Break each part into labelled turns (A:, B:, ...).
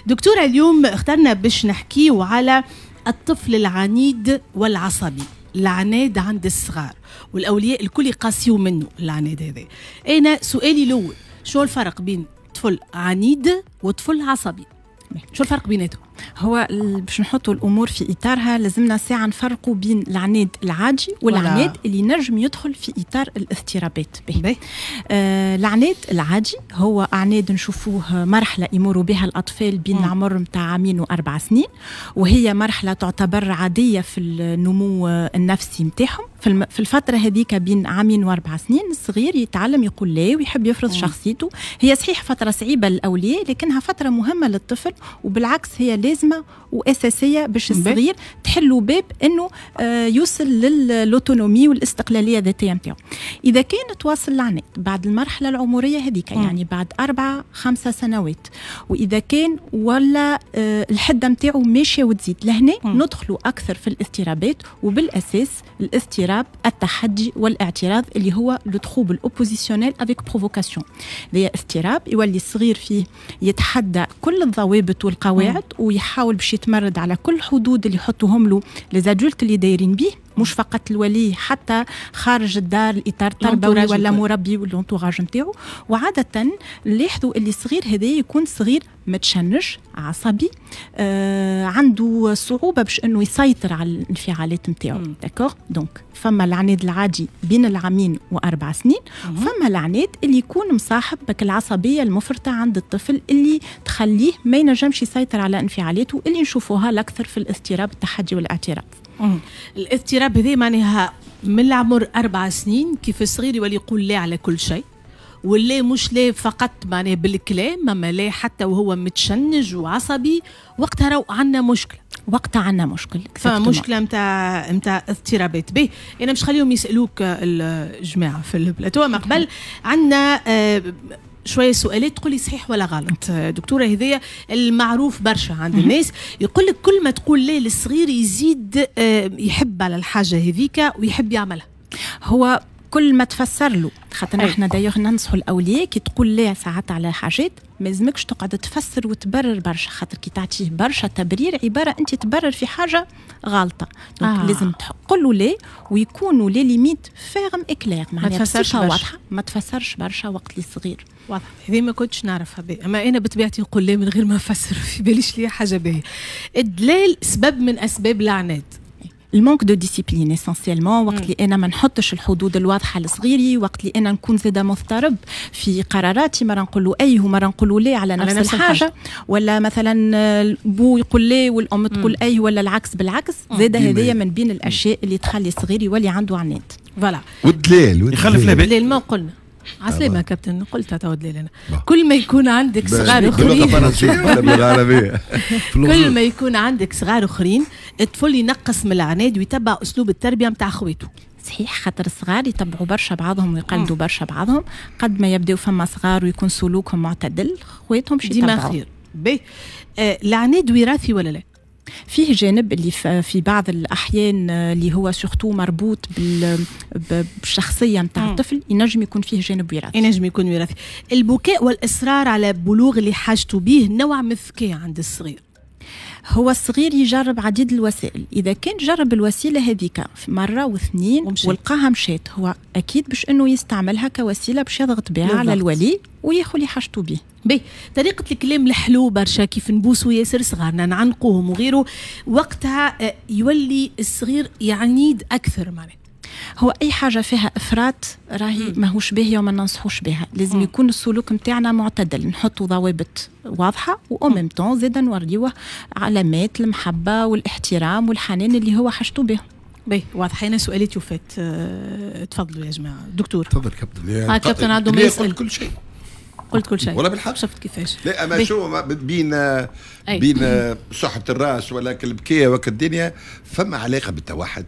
A: دكتورة، اليوم اخترنا باش نحكيو على الطفل العنيد والعصبي، العناد عند الصغار والاولياء الكل يقاسيو منه العناد هذا. انا سؤالي الاول، شو الفرق بين طفل عنيد وطفل عصبي؟ شو الفرق بيناتهم؟
B: هو باش نحطوا الامور في اطارها لازمنا ساعة نفرقوا بين العناد العادي والعناد اللي نجم يدخل في اطار الاضطرابات.
A: به.
B: العناد العادي هو عناد نشوفوه مرحلة يمروا بها الاطفال بين العمر نتاع عامين و4 سنين، وهي مرحلة تعتبر عادية في النمو النفسي نتاعهم. في الفترة هذيك بين عامين و4 سنين الصغير يتعلم يقول لا ويحب يفرض شخصيته. هي صحيح فترة صعيبة للاولياء، لكنها فترة مهمة للطفل، وبالعكس هي لازمه واساسية باش الصغير تحلوا باب انه يوصل لل autonomie والاستقلاليه الذاتية نتاعو. اذا كان تواصل العناد بعد المرحلة العمرية هذيك، يعني بعد 4 5 سنوات، واذا كان ولا الحدة نتاعو ماشية وتزيد، لهنا ندخلوا اكثر في الاضطرابات، وبالاساس الاضطراب التحدي والاعتراض اللي هو le trouble oppositionnel avec provocation. هذا اضطراب يولي الصغير فيه يتحدى كل الضوابط والقواعد ويحاول باش يتمرد على كل الحدود اللي يحطوهم له les adultes اللي دايرين بيه، مش فقط الولي، حتى خارج الدار، الاطار التربوي ولا مربي ولا l'entourage نتاعو. وعاده نلاحظوا اللي الصغير هذا يكون صغير متشنج، عصبي، عنده صعوبة باش انه يسيطر على الانفعالات نتاعو. d'accord، donc فما العناد العادي بين العامين و4 سنين، فما العناد اللي يكون مصاحب بك العصبية المفرطة عند الطفل اللي تخليه ما ينجمش يسيطر على انفعالاته، اللي نشوفوها الاكثر في الاضطراب التحدي والاعتراض.
A: الاضطراب هذا معناها من العمر 4 سنين، كيف الصغير يولي يقول لا على كل شيء، ولا مش لا فقط معناها بالكلام، اما لا حتى وهو متشنج وعصبي، وقتها راهو عندنا مشكله.
B: وقتها عندنا مشكل.
A: فمشكله نتاع اضطرابات. به، انا مش خليهم يسالوك الجماعة في البلاتو، ما قبل عندنا شوية سؤالات، تقولي صحيح ولا غلط دكتوره. هذيا المعروف برشا عند الناس، يقول لك كل ما تقول لا للصغير يزيد يحب على الحاجة هذيك ويحب يعملها.
B: هو كل ما تفسر له، خاطر احنا d'ailleurs ننصحوا الاولياء كي تقول لا ساعات على حاجات ما لازمكش تقعد تفسر وتبرر برشا، خاطر كي تعطيه برشا تبرير عبارة انت تبرر في حاجة غالطه. donc لازم تقول له لا ويكونوا les limites fermes et claires،
A: معناها
B: تفسرش واضحه، ما تفسرش برشا وقت اللي صغير.
A: واضح، هذه ما كنتش نعرفها بي. اما انا بطبيعتي نقول لا من غير ما نفسر، في باليش لي حاجة باهيه. الدلال سبب من اسباب العناد؟
B: ال manque de discipline essentiellement، وقت اللي انا ما نحطش الحدود الواضحة لصغيري، وقت اللي انا نكون زاده مضطرب في قراراتي، مرة نقول له اي ومرة نقول له لا على نفس الحاجه، الحاجة. ولا مثلا البو يقول لا والام تقول اي، ولا العكس بالعكس، زاده هذيا من بين الاشياء اللي تخلي الصغير يولي عنده عناد.
A: voilà.
C: والدلال.
D: يخلف لابد.
A: دلال ما قلنا، عسلامة كابتن، قلتها تو دلال انا. كل ما يكون عندك صغار اخرين
C: بالعربية.
A: كل ما يكون عندك صغار اخرين الطفل ينقص من العناد ويتبع اسلوب التربية نتاع خويته.
B: صحيح، خاطر الصغار يتبعوا برشا بعضهم ويقلدوا برشا بعضهم. قد ما يبداو فما صغار ويكون سلوكهم معتدل، خواتهم باش
A: ديما خير. باهي، العناد وراثي ولا لا؟
B: فيه جانب اللي في بعض الأحيان اللي هو surtout مربوط بالشخصية نتاع الطفل، ينجم يكون فيه جانب وراثي.
A: ينجم يكون وراثي. البكاء والإصرار على بلوغ اللي حاجته به نوع من الذكاء عند الصغير؟
B: هو الصغير يجرب عديد الوسائل، اذا كان جرب الوسيلة هذيك مرة واثنين ولقاها مشات، هو اكيد باش انه يستعملها كوسيلة باش يضغط بها على الولي وياخذ اللي حاجته به.
A: باهي، طريقة الكلام الحلو برشا، كيف نبوسوا ياسر صغارنا، نعنقوهم وغيره، وقتها يولي الصغير يعنيد أكثر معناها؟
B: هو اي حاجة فيها افراط راهي ماهوش باهيه وما ننصحوش بها. لازم يكون السلوك نتاعنا معتدل، نحطوا ضوابط واضحة و en même temps زاد نوريوه علامات المحبة والاحترام والحنان اللي هو حاجته به.
A: باهي، واضح. انا سؤالي وفات، تفضلوا يا جماعه. دكتور.
C: تفضل كابتن.
A: كابتن عنده ما يسال.
C: كل شيء.
A: قلت كل شيء.
C: ولا بالحق.
A: شفت كيفاش؟
C: لا، اما شو بين صحة الراس ولا البكيه وك الدنيا، فما علاقة بالتوحد؟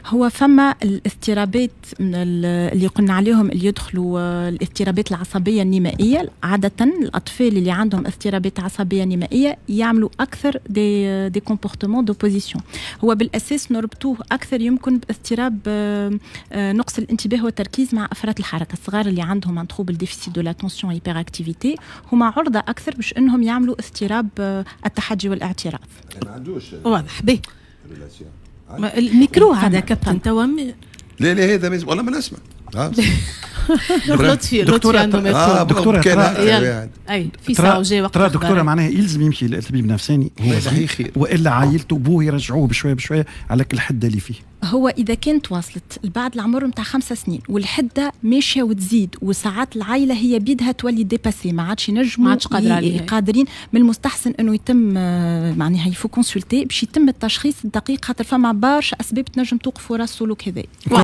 B: هو فما الاضطرابات من اللي قلنا عليهم، اللي يدخلوا الاضطرابات العصبية النمائيه. عادة الاطفال اللي عندهم اضطرابات عصبية نمائيه يعملوا اكثر des comportements d'opposition. هو بالاساس نربطوه اكثر يمكن باضطراب نقص الانتباه والتركيز مع افراط الحركه. الصغار اللي عندهم un trouble déficit de l'attention hyperactivité هما عرضه اكثر باش انهم يعملوا اضطراب التحدي والاعتراض.
C: ما عندوش.
A: واضح، به الميكرو هذا كابتن توا.
C: لا لا، هذا والله ما نسمع.
A: لطفي، لطفي عنده.
D: دكتورة.
A: اي في ساعة وجاي وقت.
D: ترى دكتوره، معناها يلزم يمشي لطبيب نفساني هو
C: صحيح
D: والا عائلته، بوه يرجعوه بشوية بشوية على كل الحدة اللي فيه؟
B: هو اذا كانت واصلت بعد العمر نتاع 5 سنين والحده ماشية وتزيد، وساعات العائلة هي بيدها تولي dépassée، ما عادش ينجموا،
A: ما عادش قادرة عليها.
B: قادرين، من المستحسن انه يتم معناها il faut consulter باش يتم التشخيص الدقيق، خاطر فما برشا اسباب تنجم توقف وراء السلوك هذا.